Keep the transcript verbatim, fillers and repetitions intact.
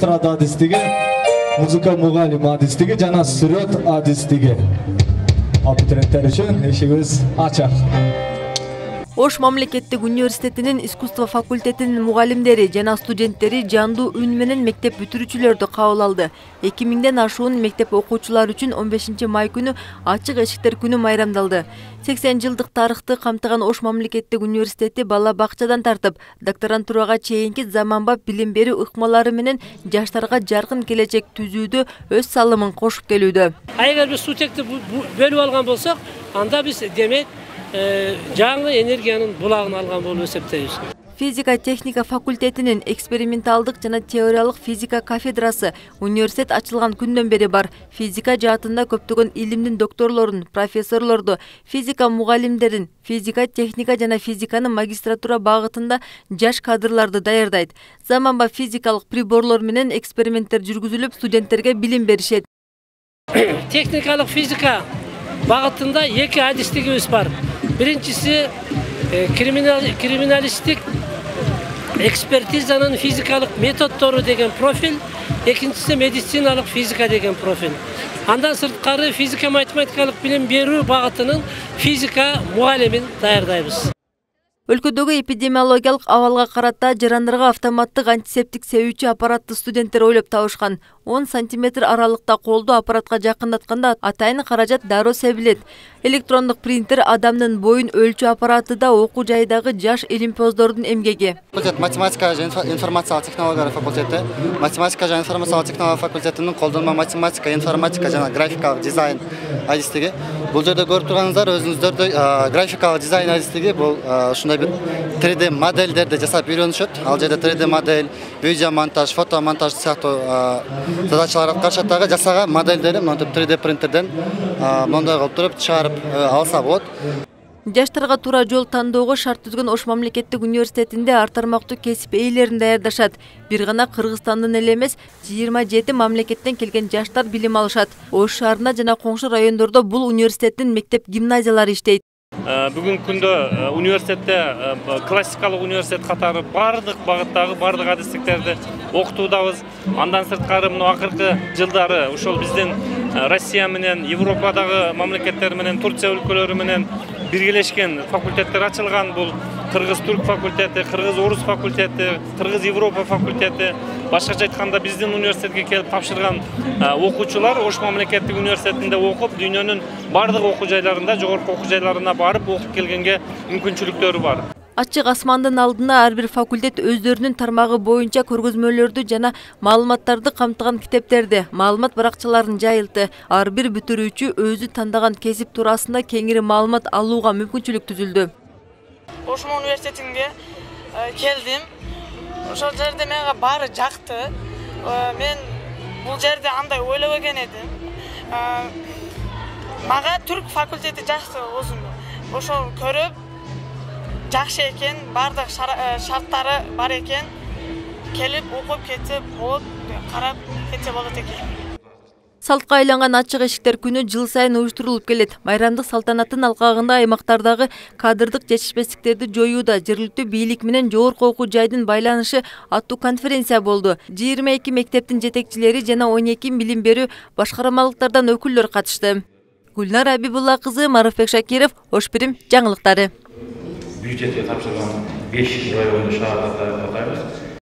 эстрада адистиги, музыка мугалим адистиги жана сүрөт адистиги. Абитуриенттер үчүн эшигибиз ачык. Ош мамлекеттик университетинин искусство факультетинин мугалимдери жана студенттери жандуу үн менен мектеп бүтүрүүчүлөрдү кабыл алды. эки миңден ашуун мектеп окуучулары үчүн он бешинчи май күнү ачык эшиктер күнү майрамдалды. сексен жылдык тарыхты камтыган Ош мамлекеттик университети бала бакчадан тартып, докторантурага чейинки заманбап билим берүү ыкмалары менен жаштарга жаркын келечек түзүүдө өз салымын кошуп келүүдө. Эгер биз сутекти бөлүп алган болсок, анда биз демек жаңы энергиянын булагын алган болуп эсептейбиз. Физика техника факультетинин эксперименталдык жана теориялык физика кафедрасы университет ачылган күндөн бери бар. Физика жаатында көптөгөн илимдин докторлорун, профессорлорду, физика мугалимдерин, физика техника жана физиканын магистратура багытында жаш кадрларды даярдайт. Заманбап физикалык приборлор менен эксперименттер жүргүзүлүп, студенттерге билим беришет. Техникалык физика багытында эки адистигибиз бар. Биринчиси криминал, криминалистик экспертизанын физикалык методдору деген профиль, экинчиси медициналык физика деген профиль. Андан сырткары физика математикалык билим берүү багытынын физика мугалимин даярдайбыз. Өлкөдөгү эпидемиологиялык абалга карата жарандарга автоматтык антисептик себүүчү аппаратты студенттер ойлоп табышкан. он сантиметр аралыкта колду аппаратка жакындатканда атайын каражат дароо себилет. Электрондук принтер адамдын боюн өлчөө аппараты да окуу жайдагы жаш илимпоздордун эмгеги. Математика жана информациялык технологиялар факультети, математика жана информациялык технологиялар факультетинин колдонмо математика, информатика жана графикалык дизайн адистиги. Бул жерде көрүп турганыңыздар өзүңүздөрдө графикалык дизайн адистиги бул ушундай бир три дэ модельдерди жасап үйрөнүшөт. Ал жерде три дэ модель, видео монтаж, фото монтаж сыяктуу задачалар аткарышат дагы. Жасаган модельдери монтип три дэ принтерден мондай кылып туруп чыгарып алса болот. Жаштарга туура жол тандоого шарт түзгөн Ош мамлекеттик университетинде ар тармактуу кесип ээлерин даярдашат. Бир гана Кыргызстандын эле эмес, жыйырма жети мамлекеттен келген жаштар билим алышат. Ош шаарында жана коңшу райондордо бул университеттин мектеп-гимназиялары иштейт. Бүгүнкү күндө университетте классикалык университет катары бардык багыттагы бардык адистиктерди окутуудабыз. Андан сырткары мына акыркы жылдары ошол биздин Россия менен Европадагы мамлекеттер менен Турция өлкөлөрү менен биргелешкен факультеттер ачылган. Бул Кыргыз-Турк факультети, Кыргыз-Орус факультети, Кыргыз-Европа факультети. Башкача айтканда биздин университетке келип тапшырган окуучулар Ош мамлекеттик университетинде окуп, дүйнөнүн бардык окуу жайларында, жогорку окуу жайларына барып окуп келгенге мүмкүнчүлүктөрү бар. Ачык асмандын алдында ар бир факультет өздөрүнүн тармагы боюнча көргөзмөлөрдү жана маалыматтарды камтыган китептерди, маалымат баракчаларын жайылтты. Ар бир бүтүрүүчү өзү тандаган кесип туурасында кеңири маалымат алууга мүмкүнчүлүк түзүлдү. Ош университетинге келдим. Ошол жерде менга баары жакты. Мен бул жерде андай ойлобогон эдим. Мага түрк факультети жакты өзүмө. Ошол көрүп жакшы экен, бардык шарттары бар экен. Келип окуп кетип болот, карап кетсе болот экен. Салтка айланган ачык эшиктер күнү жыл сайын уюштурулуп келет. Майрамдык салтанаттын алкагында аймактардагы кадрдык жетишпестиктерди жоюуда жергиликтүү бийлик менен жогорку окуу жайдын байланышы аттуу конференция болду. жыйырма эки мектептин жетекчилери жана он эки билим берүү башкармалыктардан өкүлдөр катышты. Гүлнар Абибулла кызы, Маруфбек Шакиров, Ош Бирим жаңылыктары. Бюджетке тапшырган беш районду шаарда атайбыз.